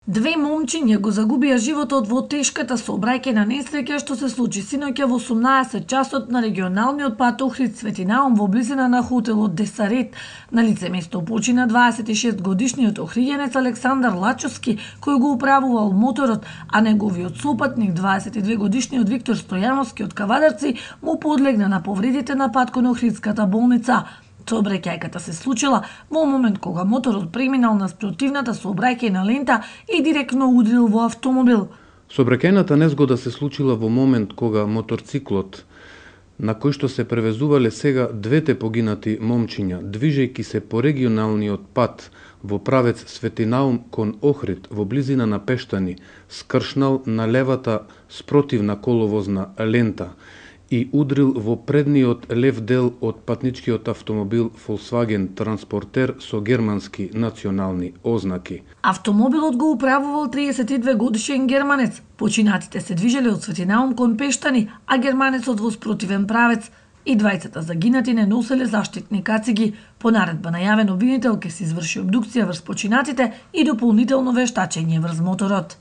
Две момчиња го загубија животот во тешката сообраќајна несреќа што се случи синоќа во 18 часот на регионалниот пат Охрид Свети Наум во близина на хотелот Десарет. На лице место почина 26-годишниот охриѓенец Александар Лачовски, кој го управувал моторот, а неговиот сопатник 22-годишниот Виктор Стојановски од Кавадарци му подлегна на повредите на пат кон Охридската болница. Сообраќајката се случила во момент кога моторот преминал на спротивната сообраќајна лента и директно удрил во автомобил. Сообраќајната незгода се случила во момент кога моторциклот на кој што се превезувале сега двете погинати момчиња, движејќи се по регионалниот пат во правец Свети Наум кон Охрид во близина на Пештани, скршнал на левата спротивна коловозна лента и удрил во предниот лев дел од патничкиот автомобил Volkswagen Транспортер со германски национални ознаки. Автомобилот го управувал 32-годишен германец. Починатите се движеле од Свети Наум кон Пештани, а германецот во спротивен правец. И двајцата загинати не носеле заштитни кациги. По наредба најавен обвинител ќе се изврши обдукција врз починатите и дополнително вештачење врз моторот.